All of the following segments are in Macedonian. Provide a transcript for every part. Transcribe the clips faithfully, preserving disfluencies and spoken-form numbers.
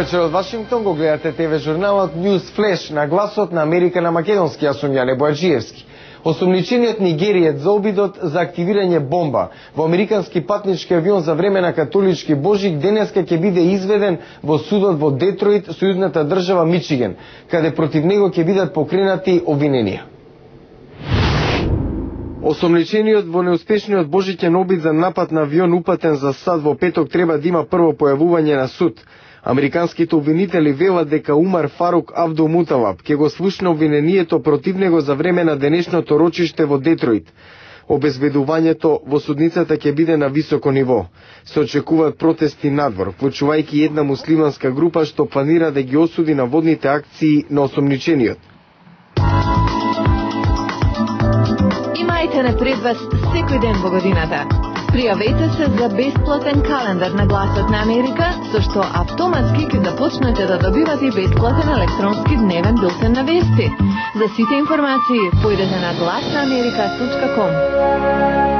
вечер од Вашингтон, го гледате ТВ журналот News Flash на гласот на Америка на македонски. Јас сум Јане Бојаджиевски. Осумничениот нигериец за обидот за активирање бомба во американски патнички авион за време на католички Божик денеска ќе биде изведен во судот во Детройт, сојузната држава Мичиген, каде против него ќе бидат покренати обвиненија. Осомничениот во неуспешниот божиќен обид за напад на авион упатен за САД во петок треба да има прво појавување на суд. Американските обвинители велат дека Умар Фарук Абдул Муталаб ќе го слушне обвинението против него за време на денешното рочиште во Детройт. Обезбедувањето во судницата ќе биде на високо ниво. Се очекуваат протести надвор, вклучувајќи една муслиманска група што планира да ги осуди наводните акции на осомничениот. Имајте напред вас секој ден во годината. Пријавете се за бесплатен календар на Гласот на Америка, со што автоматски ќе започнете да добивате бесплатен електронски дневен билтен на вести. За сите информации појдете на глас на америка точка ком.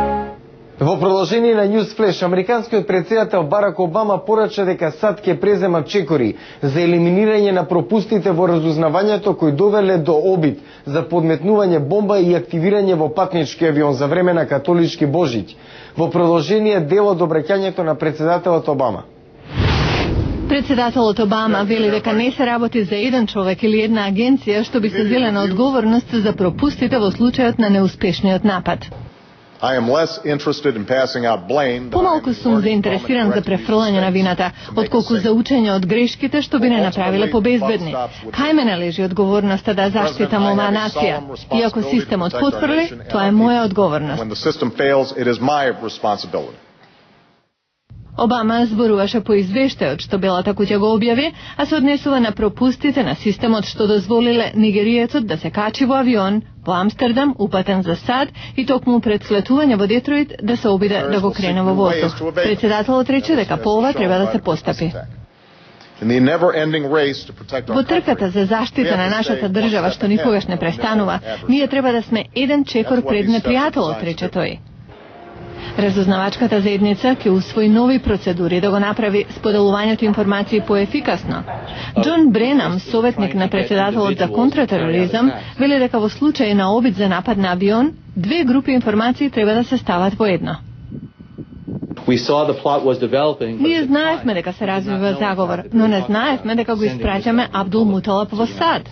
Во продолжение на News Flash, американскиот претседател Барак Обама порача дека САД ќе презема чекори за елиминирање на пропустите во разузнавањето кои довеле до обид за подметнување бомба и активирање во патнички авион за време на католички Божиќ. Во продолжение дел од обраќањето на претседателот Обама. Председателот Обама вели дека не се работи за еден човек или една агенција што би се зеле на одговорност за пропустите во случајот на неуспешниот напад. Помалку сум заинтересиран за префрлање на вината, отколку за учење од грешките што би не направиле побезбедни. Кај мене лежи одговорноста да заштитам оваа нација. И ако системот потфрли, тоа е моја одговорност. Обама зборуваше по извештајот што Белата куќа го објави, а се однесува на пропустите на системот што дозволиле нигериецот да се качи во авион во Амстердам, упатен за САД и токму пред слетување во Детройт да се обиде да го крене во воздух. Председателот рече дека по ова треба да се постапи. Во трката за заштита на нашата држава што никогаш не престанува, ние треба да сме еден чекор пред непријателот, рече тој. Разузнавачката заедница ќе усвои нови процедури да го направи споделувањето информации поефикасно. Џон Бренам, советник на председателот за контратероризам, вели дека во случај на обид за напад на авион, две групи информации треба да се стават во едно. Ние знаевме дека се развива заговор, но не знаевме дека го испраќаме Абдул Муталаб во САД.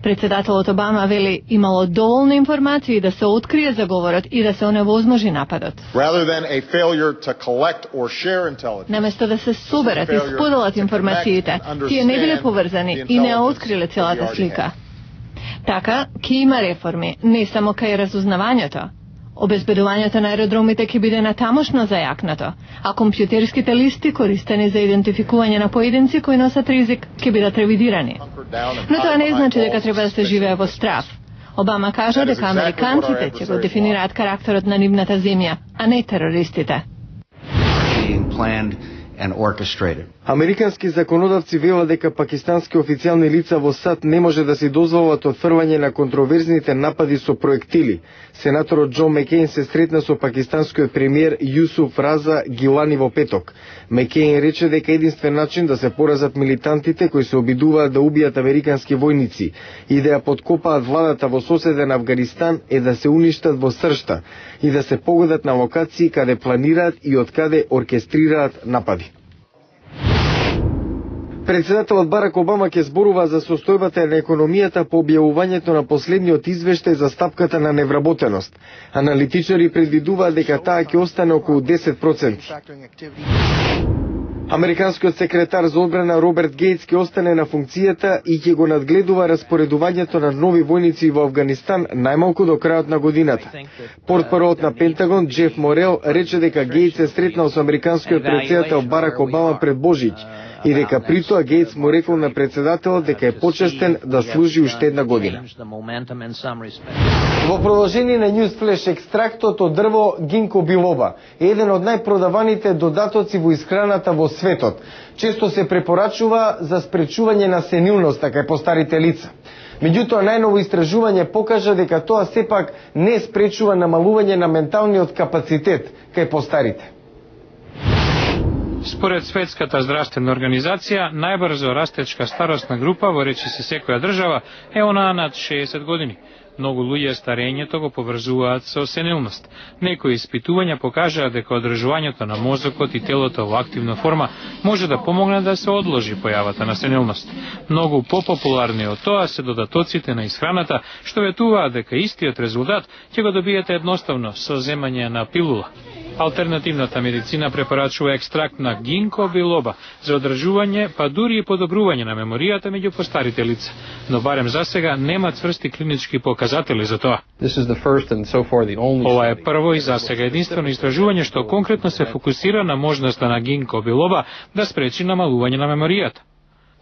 Председателот Обама вели имало доволно информации да се открие заговорот и да се оневозможи нападот. Наместо да се соберат и споделат информациите, тие не биле поврзани и не откриле целата слика. Така, ќе има реформи, не само кај разузнавањето. Обезбедувањето на аеродромите ќе биде натамошно зајакнато, а компјутерските листи користени за идентификување на поединци кои носат ризик ќе бидат ревидирани. Но тоа не значи дека треба да се живее во страв. Обама кажа дека американците ќе го дефинираат карактерот на нивната земја, а не терористите. Американски законодавци велат дека пакистански официјални лица во САД не може да си дозволат отфрвање на контроверзните напади со проектили. Сенаторот Џон Мекејн се сретна со пакистанскиот премиер Јусуф Раза Гилани во петок. Мекејн рече дека единствен начин да се поразат милитантите кои се обидуваат да убијат американски војници и да ја подкопаат владата во соседен Авганистан е да се уништат во сршта и да се погодат на локации каде планираат и од каде оркестрираат напади. Председателот Барак Обама ќе зборува за состојбата на економијата по објавувањето на последниот извештај за стапката на невработеност. Аналитичари предвидуваат дека таа ќе остане околу десет проценти. Американскиот секретар за одбрана Роберт Гейтс ќе остане на функцијата и ќе го надгледува распоредувањето на нови војници во Авганистан најмалку до крајот на годината. Портпаролот на Пентагон Џеф Морел рече дека Гейтс се сретнал со американскиот претседател Барак Обама пред Божиќ и дека при тоа Гейтс му рекол на председателот дека е почестен да служи уште една година. Во продолжение на News Flash, екстрактот од дрво гинко билоба е еден од најпродаваните додатоци во исхраната во светот. Често се препорачува за спречување на сенилноста кај постарите лица. Меѓутоа, најново истражување покажа дека тоа сепак не спречува намалување на менталниот капацитет кај постарите. Според Светската здравствена организација, најбрзо растечка старосна група во речиси секоја држава е онаа над шеесет години. Многу луѓе старењето го поврзуваат со сенилност. Некои испитувања покажаа дека одржувањето на мозокот и телото во активна форма може да помогне да се одложи појавата на сенилност. Многу попопуларни од тоа се додатоците на исхраната, што ветуваат дека истиот резултат ќе го добиете едноставно со земање на пилула. Алтернативната медицина препорачува екстракт на гинко билоба за одржување, па дури и подобрување на меморијата меѓу постарите лица, но барем за сега нема цврсти клинички показатели за тоа. Ова е прво и за сега единствено истражување што конкретно се фокусира на можноста на гинко билоба да спречи намалување на меморијата.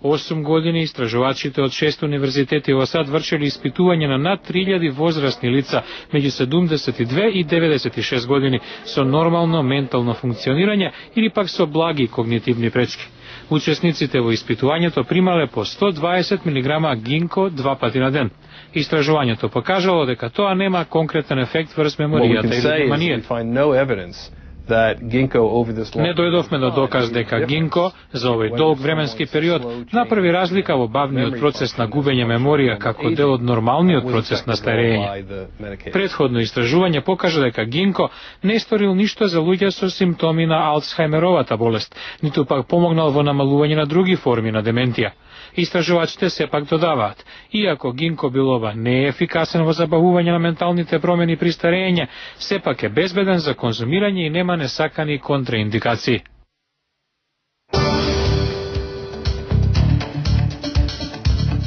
осум години истражувачите од шест универзитети во САД вршели испитување на над три илјади возрастни лица меѓу седумдесет и две и деветдесет и шест години со нормално ментално функционирање или пак со благи когнитивни пречки. Учесниците во испитувањето примале по сто дваесет милиграма гинко два пати на ден. Истражувањето покажало дека тоа нема конкретен ефект врз меморијата или вниманието. Не дојдовме до доказ дека гинко за овој долг временски период направи разлика во бавниот процес на губење меморија како дел од нормалниот процес на старење. Претходно истражување покажа дека гинко не сторил ништо за луѓе со симптоми на Алцхаймеровата болест, ниту пак помогнал во намалување на други форми на деменција. Истражувачите сепак додаваат, иако гинко билоба не е ефикасен во забавување на менталните промени при старење, сепак е безбеден за конзумирање и нема несакани контраиндикации.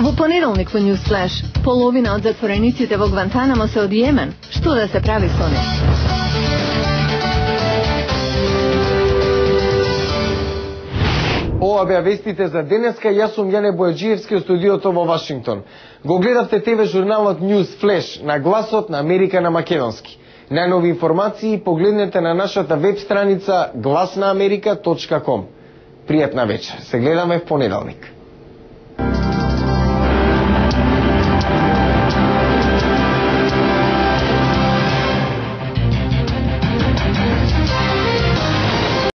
Во понеделник во News Flash, половина од затворениците во Гвантанамо се од Јемен. Што да се прави со нив? Ова беа вестите за денеска. Јас сум Јане Бојаджиевски од студиото во Вашингтон. Го гледавте ТВ журналот News Flash на гласот на Америка на македонски. Најнови информации погледнете на нашата веб страница глас на америка точка ком. Пријатна вечер. Се гледаме в понеделник.